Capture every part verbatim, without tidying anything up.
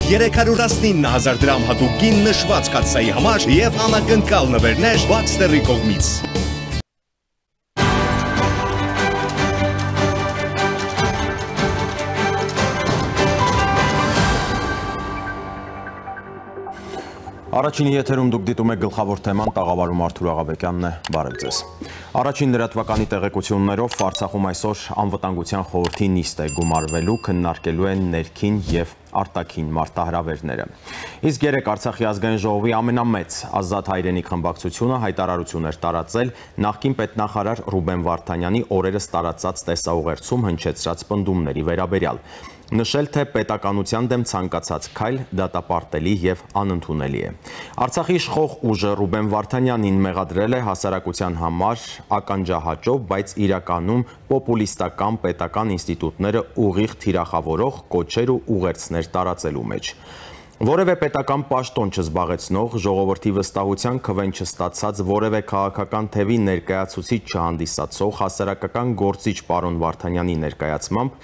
երեք հարյուր տասնինը հազար դրամ հատուկ գին նշված կաթսայի համար և անակնկալ նվերներ Baxter-ի կողմից։ Առաջինի եթերում դուք դիտում եք գլխավոր թեման, տաղավարում Արթուր Աղաբեկյանն է, բարև ձեզ։ Առաջին լրատվականի տեղեկություններով Արցախում այսօր անվտանգության խորհրդի նիստ է գումարվելու, քննարկելու են ներքին և արտաքին մարտահրավերները։ Իսկ երեկ Արցախի ազգային ժողովի ամենամեծ Ազատ հայրենիք խմբակցությունը հայտարարություն էր տարածել նախկին պետնախարար Ռուբեն Վարդանյանի օրերս տարածած տեսաուղերձում հնչեցրած պնդումների վերաբերյալ։ Նշել, թե պետականության դեմ ցանկացած քայլ դատապարտելի և անընդունելի է։ Արցախի իշխող ուժը Ռուբեն Վարդանյանին մեղադրել է հասարակության համար ականջահաճով, բայց իրականում պոպուլիստական պետական ինստիտուտները ուղիղ թիրախավորող կոչեր ու ուղերձներ տարածելու մեջ։ Որևէ պետական պաշտոն չզբաղեցնող, ժողովրդի վստահության քվեն չստացած, որևէ քաղաքական թևի ներկայացուցիչ չհանդիսացող հասարակական գործիչ պարոն Վարդանյանի ներկայացմամբ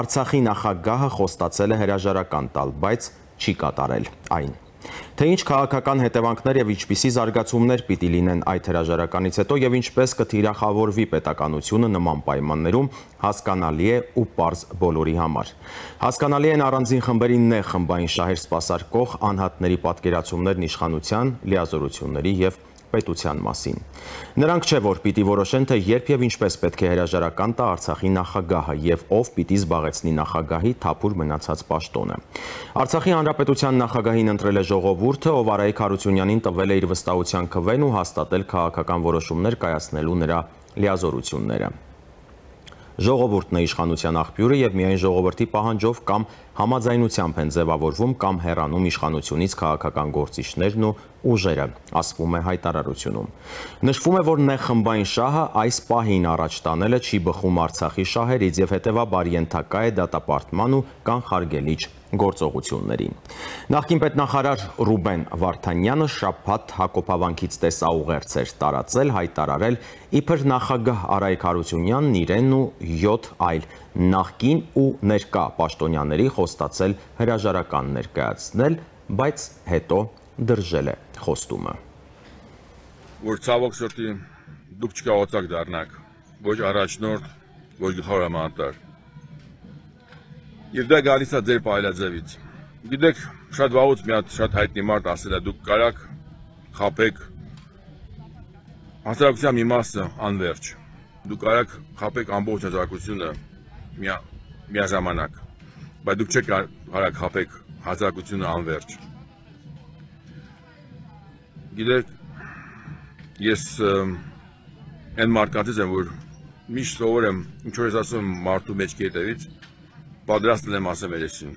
Արցախի նախագահը խոստացել է հրաժարական տալ, բայց չի կատարել այն։ Թե ինչ քաղաքական հետևանքներ և ինչպիսի զարգացումներ պիտի լինեն այդ հրաժարականից հետո և ինչպես կթիրախավորվի պետականությունը նման պայմաններում, հասկանալի է ու պարզ բոլորի համար։ Հասկանալի են առանձին խմբերի նեղ խմբային շահեր սպասարկող անհատների պատկերացումներն իշխանության, լիազորությունների և պետության մասին։ Նրանք չէ, որ պիտի որոշեն, թե երբ և ինչպես պետք է հրաժարական տա Արցախի նախագահը և ով պիտի զբաղեցնի նախագահի թափուր մնացած պաշտոնը։ Արցախի հանրապետության նախագահին ընտրել է ժողովուրդը, ով Արայիկ Հարությունյանին տվել է իր վստահության քվեն ու հաստատել քաղաքական որոշումներ կայացնելու նրա լիազորությունները։ Ժողովուրդն է իշխանության աղբյուրը և միայն ժողովրդի պահանջով կամ համաձայնությամբ են ձևավորվում կամ հեռանում իշխանությունից քաղաքական գործիչներն ու ուժերը, ասվում է հայտարարությունում։ Նշվում է, որ նեղ խմբային շահը այս պահին առաջ տանելը չի բխում Արցախի շահերից և հետևաբար ենթակա է դատապարտման ու կանխարգելիչ գործողություններին։ Նախկին պետնախարար Ռուբեն Վարդանյանը շաբաթ Հակոբավանքից տեսաուղերձ էր տարածել, հայտարարել, իբր նախագահ Արայիկ Հարությունյանն իրեն ու յոթ այլ նախկին ու ներկա պաշտոնյաների խոստացել հրաժարական ներկայացնել, բայց հետո դրժել է խոստումը։ Որ ցավոք սրտի դուք չկարողացաք դառնաք ոչ առաջնորդ, ոչ գլխավոր հրամանատար։ Եվ դա գալիս է ձեր պայլաձևից։ Գիտեք, շատ վաղուց մի հատ շատ հայտնի մարդ ասել է, դուք կարաք խաբեք հասարակության մի մասը անվերջ։ Դուք կարաք խաբեք ամբողջ հասարակությունը միաժամանակ, բայց դուք չեք կարաք խաբեք հասարակությունը անվերջ։ Գիտեք, ես այն մարդկանցից եմ, որ միշտ սովոր եմ, ինչ որ ես ասում մարդու մեջքի հետևից, պատրաստ եմ ասեմ երեսին։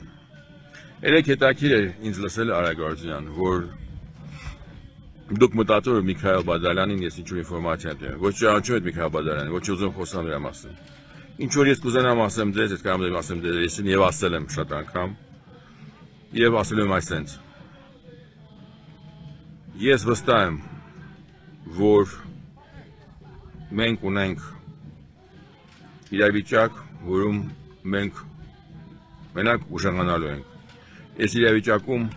Երեք հետաքրքիր էր ինձ լսել Արայիկ Հարությունյան, որ դուք մտածում եք Միքայել Բադալյանին, ես ինչ-որ ինֆորմացիա տեմ, ոչ ճանաչում եք Միքայել Բադալյանին, ոչ ուզում խոսամ նրա մասին։ Ինչ որ ես կուզենամ ասեմ ձեզ, ես կարող եմ ասեմ ձեզ երեսին և ասել եմ շատ անգամ, և ասել եմ այսպես։ Ես վստահ եմ, որ մենք ունենք իրավիճակ, որում մենք մենակ ուժեղանալու ենք։ Այս իրավիճակում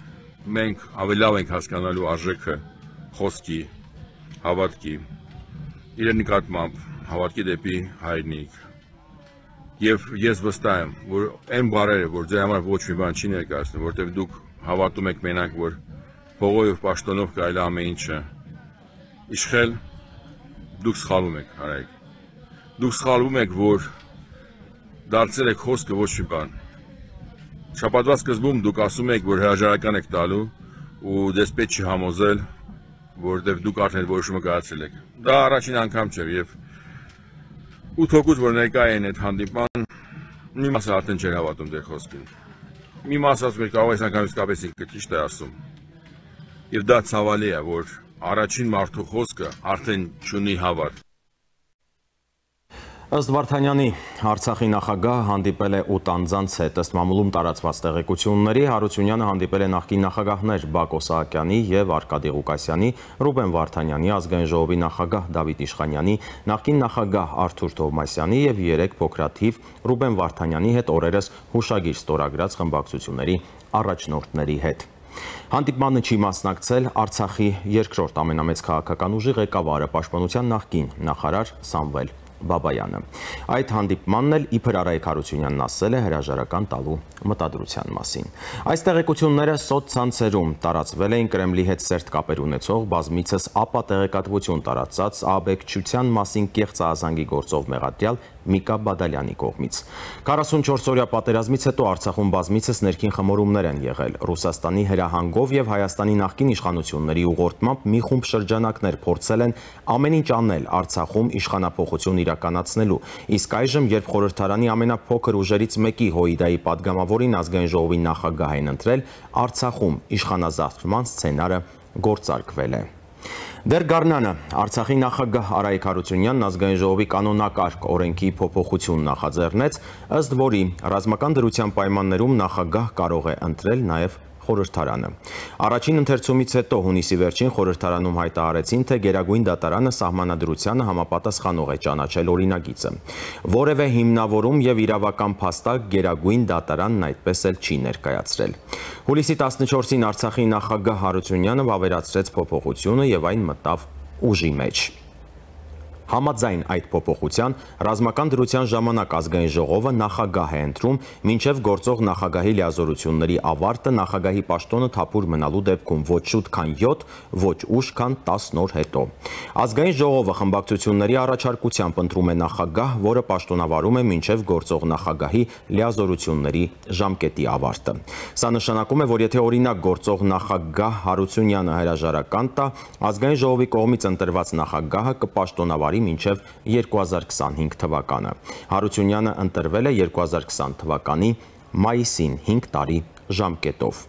մենք ավելի լավ ենք հասկանալու արժեքը խոսքի, հավատքի, իրեն նկատմամբ հավատքի դեպի հայրենիք։ Եվ ես վստահ եմ, որ այն բառերը, որ ձեր համար ոչ մի բան չի ներկայացնում, որտեղ դուք հավատում եք մենակ, որ փողով և պաշտոնով կարելի ամեն ինչը իշխել, դուք սխալվում եք, Արայիկ։ Դուք սխալվում եք, որ դարձել եք խոսքը ոչ մի բան։ Շաբաթվա սկզբում դուք ասում եք, որ հրաժարական եք տալու ու ձեզ պետք չի համոզել, որտեղ դուք արդեն որոշումը կայացրել եք։ Դա առաջին անգամ չէ և ութ հոգուց, որ ներկա են այդ հանդիպման, մի մասը արդեն չէր հավատում ձեր խոսքին։ Մի մասը ասում էր, կարող ես անգամ իսկապես ինքը ճիշտ է ասում։ Եվ դա ցավալի է, որ առաջին մարդու խոսքը արդեն չունի հավատ։ Ըստ Վարդանյանի, Արցախի նախագահը հանդիպել է ութ անձանց հետ, ըստ մամուլում տարածված տեղեկությունների, Հարությունյանը հանդիպել է նախկին նախագահներ Բակո Սահակյանի և Արկադի Ղուկասյանի, Ռուբեն Վարդանյանի, ազգային ժողովի նախագահ Դավիթ Իշխանյանի, նախկին նախագահ Արթուր Թովմասյանի և երեք փոքրաթիվ Ռուբեն Վարդանյանի հետ օրերս հուշագիր ստորագրած խմբակցությունների առաջնորդների հետ։ Հանդիպմանը չի մասնակցել Արցախի երկրորդ ամենամեծ քաղաքական ուժի ղեկավարը, պաշտպանության նախկին նախարար Սամվել Բաբայանը։ Այդ հանդիպմանն էլ իբր Արայիկ Հարությունյանն ասել է հրաժարական տալու մտադրության մասին։ Այս տեղեկությունները սոցցանցերում տարածվել էին Կրեմլի հետ սերտ կապեր ունեցող բազմիցս ապա տեղեկատվություն տարածած աբեկչության մասին կեղծ ահազանգի գործով մեղադրյալ Միկա Բադալյանի կողմից։ քառասունչորս օրյա պատերազմից հետո Արցախում բազմիցս ներքին խմորումներ են եղել։ Ռուսաստանի հրահանգով եւ Հայաստանի նախկին իշխանությունների ուղղորդմամբ մի խումբ շրջանակներ փորձել են ամեն ինչ անել Արցախում իշխանափոխություն իրականացնելու, իսկ այժմ, երբ խորհրդարանի ամենափոքր ուժերից մեկի Հոիդայի падգամավորին ազգային ժողովի նախագահ են ընտրել, Արցախում իշխանազավթման սցենարը գործարկվել է։ Դեռ գարնանը Արցախի նախագահ Արայիկ Հարությունյանն ազգային ժողովի կանոնակարգ օրենքի փոփոխություն նախաձեռնեց, ըստ որի ռազմական դրության պայմաններում նախագահ կարող է ընտրել նաև խորհրդարանը։ Առաջին ընթերցումից հետո հունիսի վերջին խորհրդարանում հայտարարեցին, թե Գերագույն դատարանը սահմանադրությանը համապատասխանող է ճանաչել օրինագիծը։ Որևէ հիմնավորում եւ իրավական փաստակ Գերագույն դատարանն այդպես էլ չի ներկայացրել։ Հուլիսի տասնչորսին Արցախի նախագահ Հարությունյանը վավերացրեց փոփոխությունը եւ այն մտավ ուժի մեջ։ Համաձայն այդ փոփոխության ռազմական դրության ժամանակ ազգային ժողովը նախագահ է ընտրում, մինչև գործող նախագահի լիազորությունների ավարտը նախագահի պաշտոնը թափուր մնալու դեպքում ոչ շուտ քան յոթ, ոչ ուշ քան տասն օր հետո։ Ազգային ժողովը խմբակցությունների առաջարկությամբ ընտրում է նախագահ, որը պաշտոնավարում է մինչև գործող նախագահի լիազորությունների ժամկետի ավարտը։ Սա նշանակում է, որ եթե օրինակ գործող նախագահ Հարությունյանը հրաժարական տա, ազգային ժողովի կողմից ընտրված նախագահը կպաշտոնավարի մինչև երկու հազար քսանհինգ թվականը։ Հարությունյանը ընտրվել է երկու հազար քսան թվականի մայիսին հինգ տարի ժամկետով։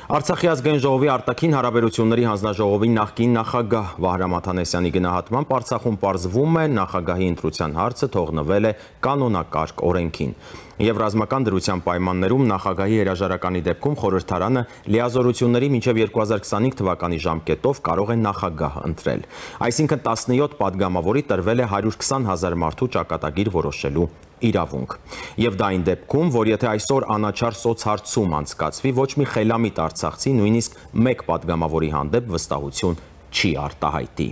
Արցախի ազգային ժողովի արտաքին հարաբերությունների հանձնաժողովի նախկին նախագահ Վահրամ Աթանեսյանի գնահատմամբ Արցախում պարզվում է նախագահի ընտրության հարցը թողնվել է կանոնակարգ օրենքին։ Եվ ռազմական դրության պայմաններում նախագահի հրաժարականի դեպքում խորհրդարանը լիազորությունների մինչև երկու հազար քսանհինգ թվականի ժամկետով կարող է նախագահ ընտրել։ Այսինքն տասնյոթ падգամավորի տրվել է հարյուր քսան հազար մարդու ճակատագիր որոշելու իրավունք։ Եվ դա այն դեպքում, որ եթե այսօր անաչառ սոցհարցում անցկացվի, ոչ մի խելամիտ արցախցի նույնիսկ մեկ падգամավորի հանդեպ վստահություն չի արտահայտի։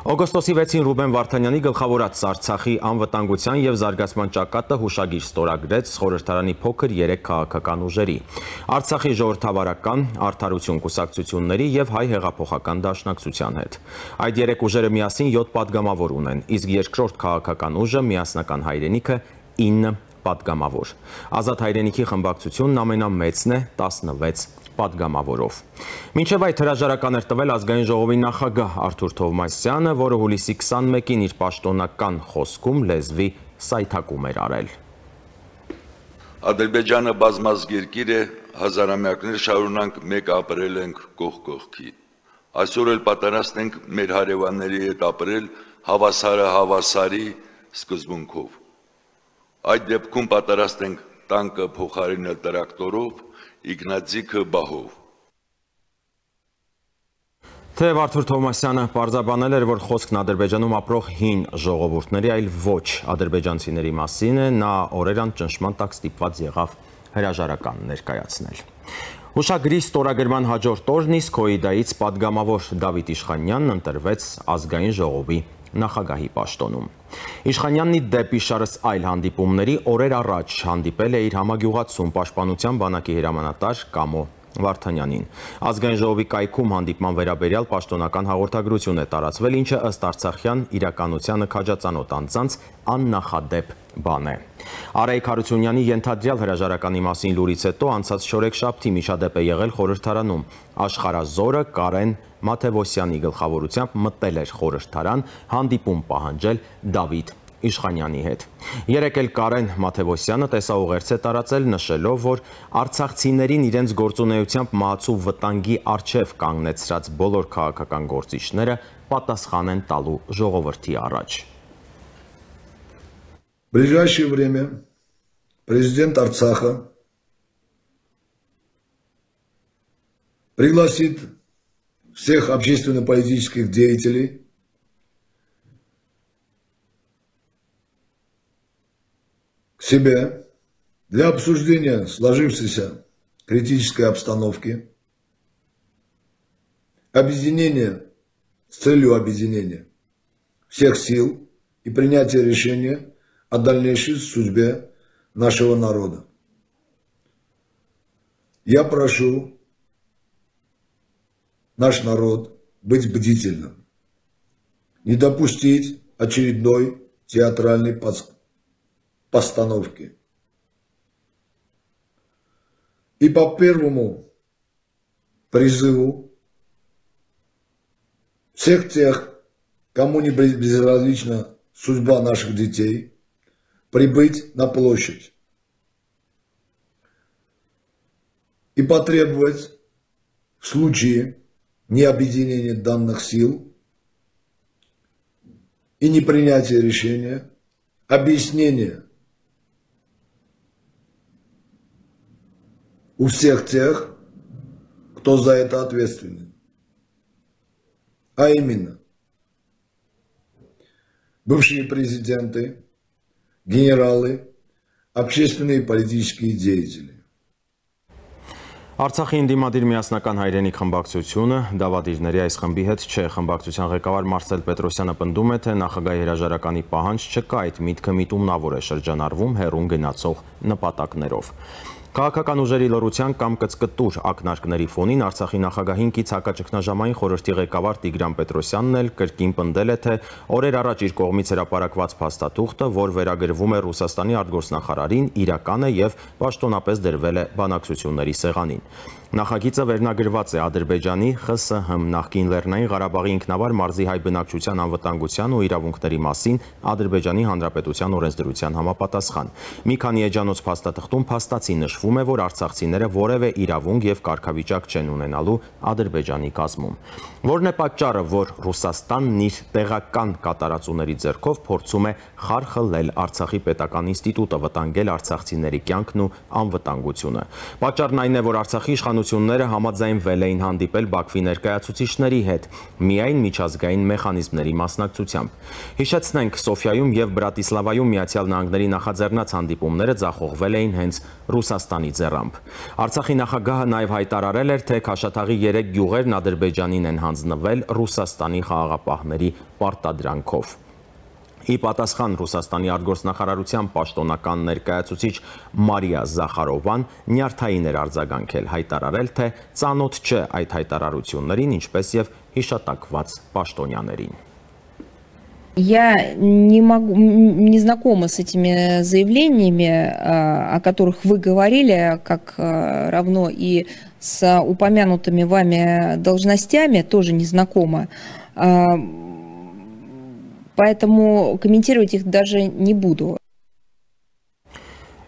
Օգոստոսի վեցին Ռուբեն Վարդանյանի գլխավորած Արցախի անվտանգության եւ զարգացման ճակատը հուշագիր ստորագրեց խորհրդարանի փոքր երեք քաղաքական ուժերի՝ Արցախի ժողովրդավարական, Արդարություն կուսակցությունների եւ Հայ հեղափոխական դաշնակցության հետ։ Այդ երեք ուժերը միասին յոթ падգամավոր ունեն, իսկ երկրորդ քաղաքական ուժը Միասնական հայրենիքը ինը падգամավոր։ Ազատ հայրենիքի խմբակցությունն ամենամեծն է տասնվեց падգամավորով։ Մինչև այդ հրաժարական էր տվել ազգային ժողովի նախագահ Արթուր Թովմասյանը, որը հուլիսի քսանմեկին իր պաշտոնական խոսքում լեզվի սայթակում էր արել։ Ադրբեջանը բազմազգ երկիր է, հազարամյակներ շարունակ մեկ ապրել ենք կողք կողքի։ Այսօր էլ պատրաստ ենք մեր հարևանների հետ ապրել հավասարը հավասարի սկզբունքով։ Այդ դեպքում պատրաստ ենք տանկը փոխարինել տրակտորով, Իգնատիկը բահով։ Թեև Արթուր Թովմասյանը պարզաբանել էր, որ խոսքն Ադրբեջանում ապրող հին ժողովուրդների, այլ ոչ ադրբեջանցիների մասին է, նա օրերան ճնշման տակ ստիպված եղավ հրաժարական ներկայացնել։ Հուշագրի ստորագրման հաջորդ օրն իսկ Հոիդայից падգամավոր Դավիթ Իշխանյանն ընտրվեց ազգային ժողովի նախագահի պաշտոնում։ Իշխանյանն ի դեպ իշարս այլ հանդիպումների օրեր առաջ հանդիպել է իր համագյուղացում պաշտպանության բանակի հրամանատար Կամո Վարդանյանին։ Ազգային ժողովի կայքում հանդիպման վերաբերյալ պաշտոնական հաղորդագրություն է տարածվել, ինչը ըստ արցախյան իրականությանը քաջածանոթ անձանց աննախադեպ բան է։ Արայիկ Հարությունյանի ենթադրյալ հրաժարականի մասին լուրից հետո անցած շորեքշաբթի միջադեպ է եղել խորհրդարանում։ Աշխարհազորը Կարեն Մաթևոսյանի գլխավորությամբ մտել էր խորհրդարան հանդիպում պահանջել Դավիթ Իշխանյանի հետ։ Երեկ էլ Կարեն Մաթևոսյանը տեսաուղերձ է տարածել, նշելով, որ արցախցիներին իրենց գործունեությամբ մահացու վտանգի առջև կանգնեցրած բոլոր քաղաքական գործիչները պատասխան են տալու ժողովրդի առաջ։ В ближайшее время президент Арцаха пригласит всех общественно-политических деятелей к себе для обсуждения сложившейся критической обстановки, объединение с целью объединения всех сил и принятия решения о дальнейшей судьбе нашего народа. Я прошу наш народ быть бдительным, не допустить очередной театральной постановки. И по первому призыву всех тех, кому не безразлична судьба наших детей, прибыть на площадь и потребовать в случае необъединения данных сил и непринятия решения объяснения у всех тех, кто за это ответственен. А именно, бывшие президенты, генералы, общественные и политические деятели. Արցախի ինդիմադիր միասնական հայրենիք խմբակցությունը դավադիրների այս խմբի հետ չէ։ Խմբակցության ղեկավար Մարսել Պետրոսյանը պնդում է, թե նախագահի հրաժարականի պահանջ չկա, այդ միտքը միտումնավոր է շրջանառվում հեռուն գնացող նպատակներով։ Քաղաքական ուժերի լռության կամ կծկտուր ակնարկների ֆոնին Արցախի նախագահին կից հակաճգնաժամային խորհրդի ղեկավար Տիգրան Պետրոսյանն էլ կրկին պնդել է, թե օրեր առաջ իր կողմից հրապարակված փաստաթուղթը, որ վերագրվում է Ռուսաստանի արտգործնախարարին, իրական է եւ պաշտոնապես դրվել է բանակցությունների սեղանին։ Նախագիծը վերնագրված է Ադրբեջանի Խ Սհ նախկին Լեռնային Ղարաբաղի ինքնավար մարզի հայ բնակչության անվտանգության ու իրավունքների մասին Ադրբեջանի Հանրապետության օրենսդրության համապատասխան։ Մի քանի էջանոց փաստաթղթում փաստացի նշվում է, որ արցախցիները որևէ իրավունք եւ կարգավիճակ չեն ունենալու Ադրբեջանի կազմում։ Որն է պատճառը, որ Ռուսաստանն իր տեղական կատարածուների ձեռքով փորձում է խարխլել Արցախի պետական ինստիտուտը, վտանգել արցախցիների կյանքն ու անվտանգությունը։ Պատճառն այն է, որ Արցախի իշխանությունները համաձայնվել էին հանդիպել Բաքվի ներկայացուցիչների հետ, միայն միջազգային մեխանիզմների մասնակցությամբ։ Հիշեցնենք, Սոֆիայում եւ Բրատիսլավայում Միացյալ Նահանգների նախաձեռնած հանդիպումները ձախողվել էին հենց Ռուսաստանի ձեռամբ։ Արցախի նախագահը նաև հայտարարել էր, թե Քաշաթաղի երեք գյուղերն Ադրբեջանին են հանձնվել Ռուսաստանի խաղաղապահների պարտադրանքով։ Ի պատասխան Ռուսաստանի արտգործնախարարության պաշտոնական ներկայացուցիչ Մարիա Զախարովան նյարդային էր արձագանքել, հայտարարել, թե ծանոթ չէ այդ հայտարարություններին, ինչպես եւ հիշատակված паштոնյաներին։ Я не могу, не знакома с этими заявлениями, о которых вы говорили, как равно и с упомянутыми вами должностями, тоже не знакома. Поэтому комментировать их даже не буду.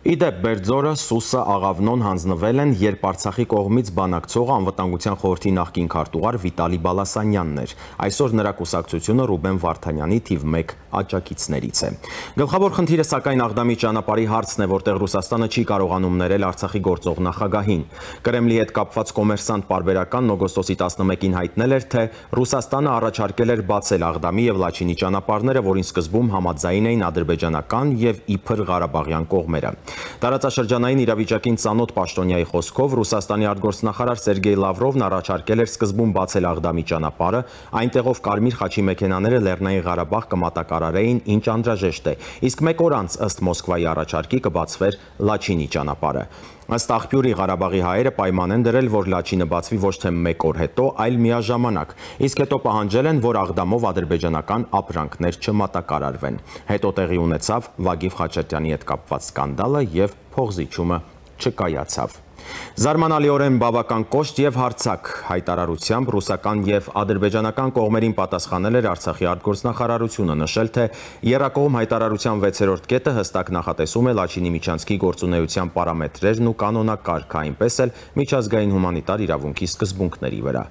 Իդեպ Բերձորը, Սուսը, Աղավնոն հանձնվել են, երբ Արցախի կողմից բանակցողը անվտանգության խորհրդի նախկին քարտուղար Վիտալի Բալասանյանն էր։ Այսօր նրա կուսակցությունը Ռուբեն Վարդանյանի թիվ մեկ աջակիցներից է։ Գլխավոր խնդիրը սակայն Աղդամի ճանապարհի հարցն է, որտեղ Ռուսաստանը չի կարողանում ներել Արցախի գործող նախագահին։ Կրեմլի հետ կապված կոմերսանտ պարբերական օգոստոսի տասնմեկին հայտնել էր, թե Ռուսաստանը առաջարկել էր բացել Աղդամի եւ Լաչինի ճանապարհները, որին սկզբում համաձայն էին ադրբեջանական եւ իբր Ղարաբաղյան կողմերը։ Տարածաշրջանային իրավիճակին ծանոթ պաշտոնյայի խոսքով Ռուսաստանի արտգործնախարար Սերգեյ Լավրովն առաջարկել էր սկզբում բացել Աղդամի ճանապարհը, այնտեղով կարմիր խաչի մեքենաները Լեռնային Ղարաբաղ կմատակարարեին, ինչ անհրաժեշտ է, իսկ մեկ օր անց ըստ Մոսկվայի առաջարկի կբացվեր Լաչինի ճանապարհը։ Ըստ աղբյուրի Ղարաբաղի հայերը պայման են դրել, որ Լաչինը բացվի ոչ թե մեկ օր հետո, այլ միաժամանակ, իսկ հետո պահանջել են, որ Աղդամով ադրբեջանական ապրանքներ չմատակարարվեն։ Հետո տեղի ունեցավ Վագիվ Խաչատրյանի հետ կապված սկանդալը եւ փողզիչումը չկայացավ։ Զարմանալիորեն բավական կոշտ եւ հարցակ հայտարարությամբ ռուսական եւ ադրբեջանական կողմերին պատասխանել էր Արցախի արտգործնախարարությունը, նշել, թե եռակողմ հայտարարության վեցերորդ կետը հստակ նախատեսում է Լաչինի միջանցքի գործունեության պարամետրերն ու կանոնակարգը, այնպես էլ միջազգային հումանիտար իրավունքի սկզբունքների վրա։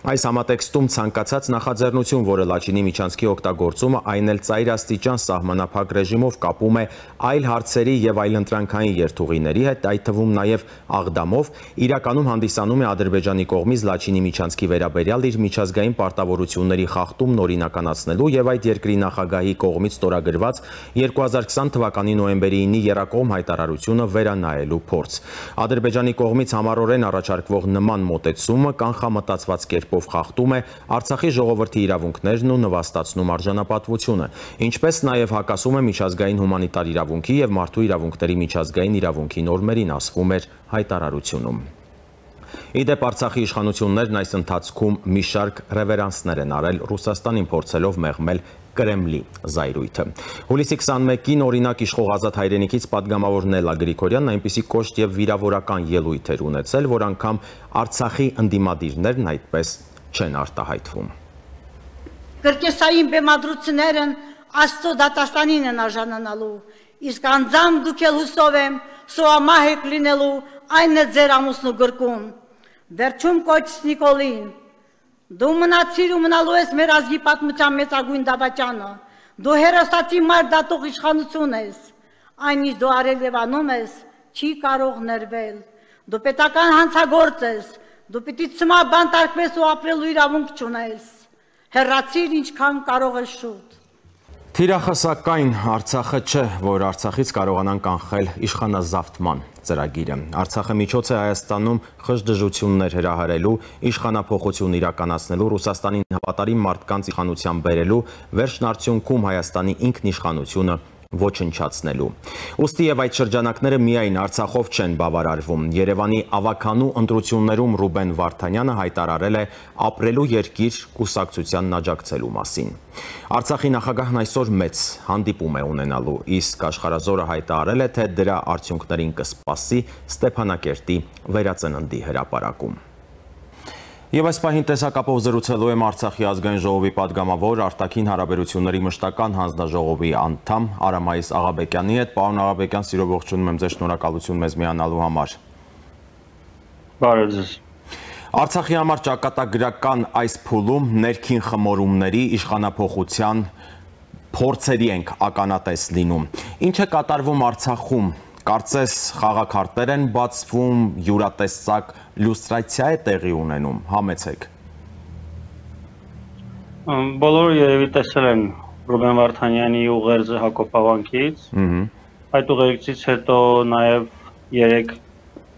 Այս համատեքստում ցանկացած նախաձեռնություն, որը Լաչինի միջանցքի օգտագործումը, այն էլ ծայրաստիճան սահմանափակ ռեժիմով կապում է այլ հարցերի եւ այլ ընտրանքային երթուղիների հետ, այդ թվում նաեւ Ադամով իրականում հանդիսանում է Ադրբեջանի կողմից Լաչինի միջանցքի վերաբերյալ իր միջազգային պարտավորությունների խախտումն օրինականացնելու եւ այդ երկրի նախագահի կողմից ստորագրված երկու հազար քսան թվականի նոյեմբերի ինի եռակողմ հայտարարությունը վերանայելու փորձ։ Ադրբեջանի կողմից համառորեն առաջարկվող նման մոտեցումը կանխամտածված կերպով խախտում է Արցախի ժողովրդի իրավունքներն ու նվաստացնում արժանապատվությունը, ինչպես նաև հակասում է միջազգային հումանիտար իրավունքի եւ մարդու իրավունքների միջազգային իրավունքի նորմերին, ասվում էր հայտարարությունում։ Իդեպ Արցախի իշխանություններն այս ընթացքում մի շարք ռևերանսներ են արել Ռուսաստանին փորձելով մեղմել Կրեմլի զայրույթը։ Հուլիսի քսանմեկին օրինակ իշխող Ազատ հայրենիքից падգամավոր Նելլա Գրիգորյանն այնպիսի կոշտ եւ վիրավորական ելույթ էր ունեցել, որ անգամ Արցախի ընդդիմադիրներն այդպես չեն արտահայտվում։ Կրկեսային բեմադրություններն Աստծո դատաստանին են արժանանալու, իսկ անձամբ դուք էլ հուսով եմ սոամահեք լինելու, այն է ձեր ամուսնու գրկում։ Վերջում կոչս Նիկոլին, դու մնացիր ու մնալու ես մեր ազգի պատմության մեծագույն դավաճանը, դու հերոսացի մար դատող իշխանություն ես, այն ինչ դու արել եւ անում ես, չի կարող ներվել, դու պետական հանցագործ ես, դու պիտի ցմաբանտարկվես ու ապրելու իրավունք չունես, հեռացիր ինչքան կարող ես շուտ։ Թիրախսակայն Արցախը չէ, որ Արցախից կարողանան կանխել իշխանազավթման ծրագիրը։ Արցախը միջոց է Հայաստանում խժդժություններ հրահրելու, իշխանափոխություն իրականացնելու, Ռուսաստանին հավատարիմ մարդկանց իշխանության բերելու, վերջն արդյունքում Հայաստանի ինքնիշխանությունը ոչնչացնելու։ Ուստի եւ այդ շրջանակները միայն Արցախով չեն բավարարվում։ Երևանի ավականու ընտրություններում Ռուբեն Վարդանյանը հայտարարել է ապրելու երկիր կուսակցությանն աջակցելու մասին։ Արցախի նախագահն այսօր մեծ հանդիպում է ունենալու, իսկ Աշխարհազորը հայտարարել է, թե դրա արդյունքներին կսպասի Ստեփանակերտի վերածննդի հրապարակում։ Եվ այս պահին տեսակապով զրուցելու եմ Արցախի ազգային ժողովի падգամավոր, արտաքին հարաբերությունների մշտական հանձնաժողովի անդամ Արամայիս Աղաբեկյանի հետ։ Պարոն Աղաբեկյան, սիրով ողջունում եմ ձեզ, շնորհակալություն մեզ միանալու համար։ Բարև ձեզ։ Արցախի համար ճակատագրական այս փուլում ներքին խմորումների, իշխանափոխության փորձերի ենք ականատես լինում։ Ինչ է կատարվում Արցախում։ Կարծես խաղաքարտեր են բացվում, յուրատեսակ լյուստրացիա է տեղի ունենում, համեցեք։ Բոլորը երևի տեսել են Ռուբեն Վարդանյանի ուղերձը Հակոբ Ավանքից, այդ ուղերձից հետո նաև երեք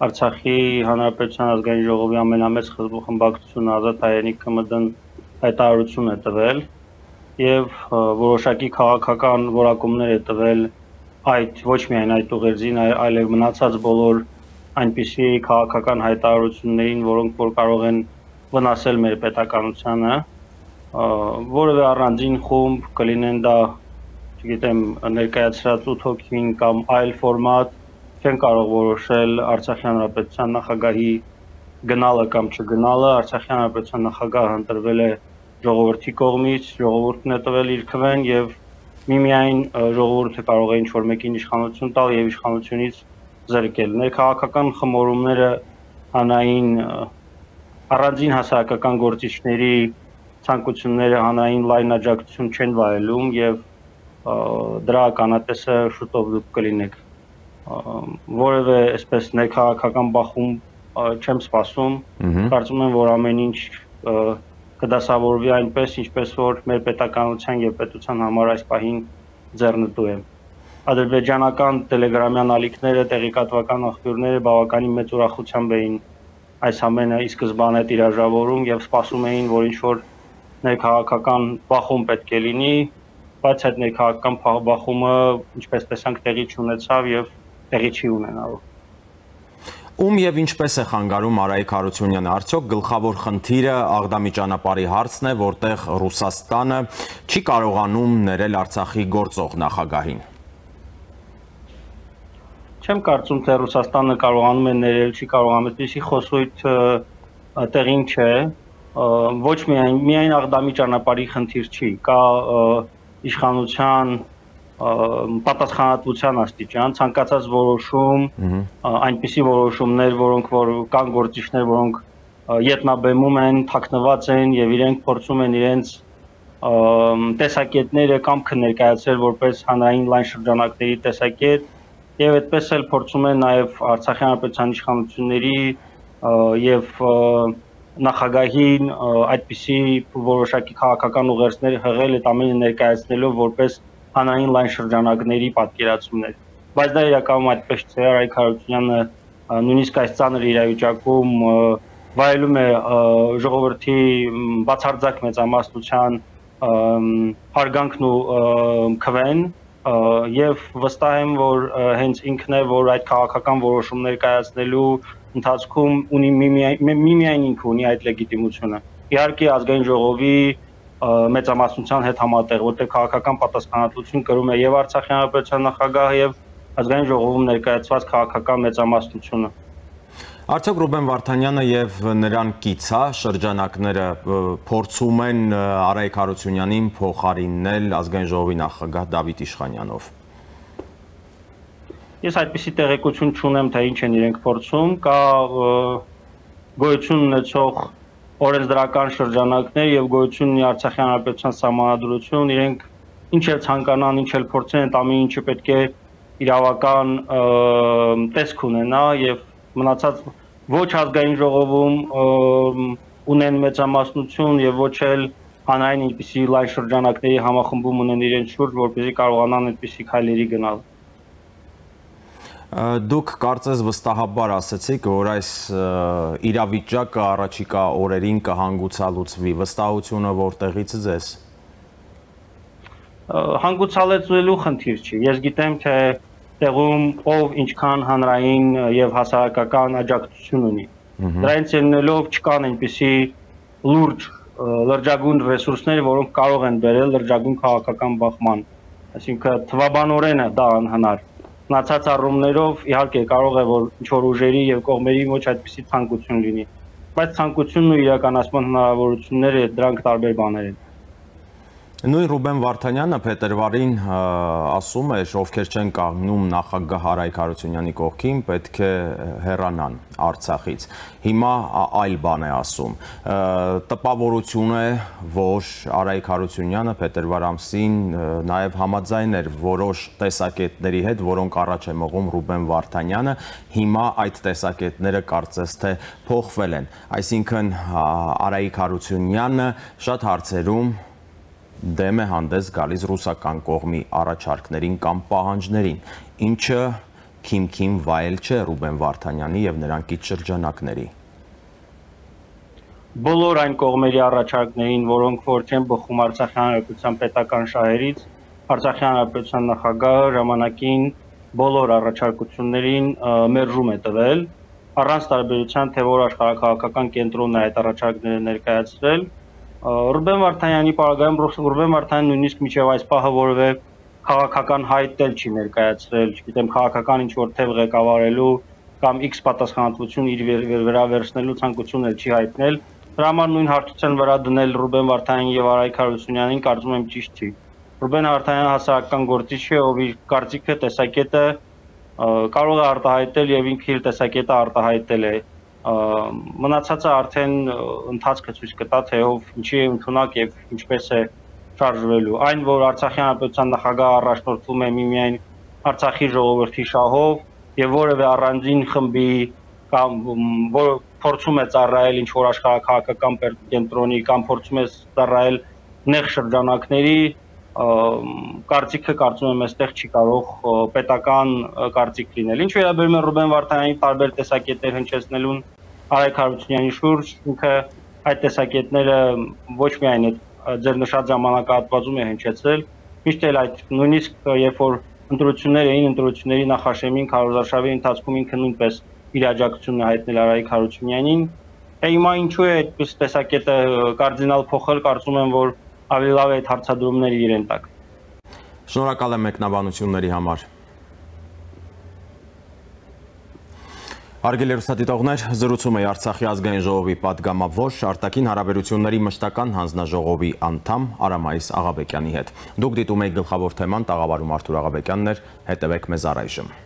Արցախի Հանրապետության ազգային ժողովի ամենամեծ խմբակցությունը Ազատ հայրենիքը ՄԴ-ն հայտարարություն է տվել եւ որոշակի քաղաքական որակումներ է տվել այդ ոչ միայն այդ ուղերձին, այլև մնացած բոլոր այնպիսի քաղաքական հայտարարություններին, որոնք որ կարող են վնասել մեր պետականությանը, որևէ առանձին խումբ կլինեն դա, չգիտեմ, ներկայացրած ութ հոգին կամ այլ ֆորմատ, չեն կարող որոշել Արցախի Հանրապետության նախագահի գնալը կամ չգնալը։ Արցախի Հանրապետության նախագահը ընտրվել է ժողովրդի կողմից, ժողովուրդն է տվել իր քվեն եւ միմիայն ժողովուրդը կարող է ինչ-որ մեկին իշխանություն տալ եւ իշխանությունից զրկել։ Ներքաղաքական խմորումները հանրային առանձին հասարակական գործիչների ցանկությունները հանրային լայն աջակցություն չեն վայելում եւ դրա ականատեսը շուտով դուք կլինեք։ Որևէ այսպես ներքաղաքական բախում չեմ սպասում, կարծում եմ, որ ամեն ինչ կդասավորվի այնպես, ինչպես որ մեր պետականության եւ պետության համար այս պահին ձեռնտու է։ Ադրբեջանական տելեգրամյան ալիքները, տեղեկատվական աղբյուրները բավականին մեծ ուրախությամբ էին այս ամենը ի սկզբանե տիրաժավորում եւ սպասում էին, որ ինչ-որ ներքաղաքական բախում պետք է լինի, բայց այդ ներքաղաքական բախումը, ինչպես տեսանք, տեղի չունեցավ եւ տեղի չի ունենալու։ Ում եւ ինչպես է խանգարում Արայիկ Հարությունյանը, արդյոք գլխավոր խնդիրը Աղդամի ճանապարհի հարցն է, որտեղ Ռուսաստանը չի կարողանում ներել Արցախի գործող նախագահին։ Չեմ կարծում, թե Ռուսաստանը կարողանում է ներել, չի կարողանում, այդպիսի խոսույթ տեղին չէ, ոչ միայն միայն Աղդամի ճանապարհի խնդիր չի, կա իշխանության պատասխանատվության աստիճան, ցանկացած որոշում, այնպիսի որոշումներ, որոնք որ կան գործիչներ, որոնք ետնաբեմում են, թաքնված են եւ իրենք փորձում են իրենց տեսակետները կամ կներկայացրել որպես հանրային լայն շրջանակների տեսակետ եւ այդպես էլ փորձում են նաեւ Արցախի հանրապետության իշխանությունների եւ նախագահին այդպիսի որոշակի քաղաքական ուղերձներ հղել այդ ամենը ներկայացնելով որպես հանրային լայն շրջանակների պատկերացումներ։ Բայց դա իրականում այդպես չէ, Արայք Հարությունյանը նույնիսկ այս ծանր իրավիճակում վայելում է ժողովրդի բացարձակ մեծամասնության հարգանքն ու քվեն եւ վստահ եմ, որ հենց ինքն է, որ այդ քաղաքական որոշումներ կայացնելու ընթացքում ունի միմիայն ինքը ունի այդ լեգիտիմությունը։ Իհարկե ազգային ժողովի մեծամասնության հետ համատեղ, որտեղ քաղաքական պատասխանատվություն կրում է եւ Արցախի հանրապետության նախագահը եւ ազգային ժողովում ներկայացված քաղաքական մեծամասնությունը։ Արդյոք Ռուբեն Վարդանյանը եւ նրան կիցա շրջանակները փորձում են Արայք Հարությունյանին փոխարինել ազգային ժողովի նախագահ Դավիթ Իշխանյանով։ Ես այդպիսի տեղեկություն չունեմ, թե ինչ են իրենք փորձում, կա գոյություն ունեցող օրենսդրական շրջանակներ եւ գոյություն ունի Արցախի հանրապետության սահմանադրություն, իրենք ինչ էլ ցանկանան, ինչ էլ փորձեն, այդ ամեն ինչը պետք է իրավական տեսք ունենա եւ մնացած ոչ ազգային ժողովում ունեն մեծամասնություն եւ ոչ էլ հանրային ինչպիսի լայն շրջանակների համախմբում ունեն իրենց շուրջ, որպեսզի կարողանան այդպիսի քայլերի գնալ։ Դուք կարծես վստահաբար ասացիք, որ այս իրավիճակը առաջիկա օրերին կհանգուցալուծվի, վստահությունը որտեղից ձեզ։ Հանգուցալուծելու խնդիր չի։ Ես գիտեմ, թե տեղում ով ինչքան հանրային եւ հասարակական աջակցություն ունի։ Դրանից ելնելով չկան այնպիսի լուրջ լրջագույն ռեսուրսներ, որոնք կարող են բերել լրջագույն քաղաքական բախման։ Այսինքն թվաբանորեն է դա անհնար։ Մնացած առումներով իհարկե կարող է որ ինչ-որ ուժերի եւ կողմերի ոչ այդպիսի ցանկություն լինի, բայց ցանկությունն ու իրականացման հնարավորությունները դրանք տարբեր բաներ են։ Նույն Ռուբեն Վարդանյանը փետրվարին ասում էր, ովքեր չեն կանգնում նախագահ Արայք Հարությունյանի կողքին, պետք է հեռանան Արցախից։ Հիմա այլ բան է ասում։ Տպավորություն է, որ Արայք Հարությունյանը փետրվար ամսին նաև համաձայն էր որոշ տեսակետների հետ, որոնք առաջ է մղում Ռուբեն Վարդանյանը, հիմա այդ տեսակետները կարծես թե փոխվել են։ Այսինքն Արայք Հարությունյանը շատ հարցերում դեմ է հանդես գալիս ռուսական կողմի առաջարկներին կամ պահանջներին, ինչը քիմքին վայել չէ Ռուբեն Վարդանյանի եւ նրանքից շրջանակների։ Բոլոր այն կողմերի առաջարկներին, որոնք որ չեն բխում Արցախի հանրապետության պետական շահերից, Արցախի հանրապետության նախագահը ժամանակին բոլոր առաջարկություններին մերժում է տվել, առանց տարբերության, թե որ աշխարհակաղակական կենտրոնն է այդ առաջարկները ներկայացրել։ Ռուբեն Վարդանյանի պարագայում Ռուբեն Վարդանյանը նույնիսկ միջև այս պահը որևէ քաղաքական հայտ էլ չի ներկայացրել, չգիտեմ, քաղաքական ինչ-որ թեւ ղեկավարելու կամ X պատասխանատվություն իր վրա վերցնելու ցանկություն էլ չի հայտնել։ Դրա համար նույն հարթության վրա դնել Ռուբեն Վարդանյանին եւ Արայք Հարությունյանին կարծում եմ ճիշտ չի։ Ռուբեն Վարդանյանը հասարակական գործիչ է, ով իր կարծիքը, տեսակետը կարող է արտահայտել եւ ինքը իր տեսակետը արտահայտել է։ Մնացածը արդեն ընթացքը ցույց կտա, թե ով ինչի է ընդունակ եւ ինչպես է շարժվելու։ Այն, որ Արցախի հանրապետության նախագահը առաջնորդվում է միմիայն Արցախի ժողովրդի շահով եւ որևէ առանձին խմբի կամ որ փորձում է ծառայել ինչ որ աշխարհակաղակական կենտրոնի կամ փորձում է ծառայել նեղ շրջանակների կարծիքը կարծում եմ այստեղ չի կարող պետական կարծիք լինել։ Ինչ վերաբերում է Ռուբեն Վարդանյանի տարբեր տեսակետներ հնչեցնելուն Արայք Հարությունյանի շուրջ, ինքը այդ տեսակետները ոչ միայն ձեր նշած ժամանակահատվածում է հնչեցրել, միշտ էլ այդ նույնիսկ երբ որ ընտրություններ էին, ընտրությունների նախաշեմին քարոզարշավի ընթացքում ինքը նույնպես իր աջակցությունն է հայտնել Արայք Հարությունյանին։ Հիմա ինչու է այդպես տեսակետը կարդինալ փոխել, կարծում եմ, որ ավելի լավ է այդ հարցադրումները իրեն տակ։ Շնորհակալ եմ մեկնաբանությունների համար։ Հարգելի հեռուստադիտողներ, զրուցում է Արցախի ազգային ժողովի պատգամավոր արտաքին հարաբերությունների մշտական հանձնաժողովի անդամ Արամայիս Աղաբեկյանի հետ։ Դուք դիտում եք գլխավոր թեման, տաղավարում Արթուր Աղաբեկյանն էր, հետևեք մեզ առայժմ։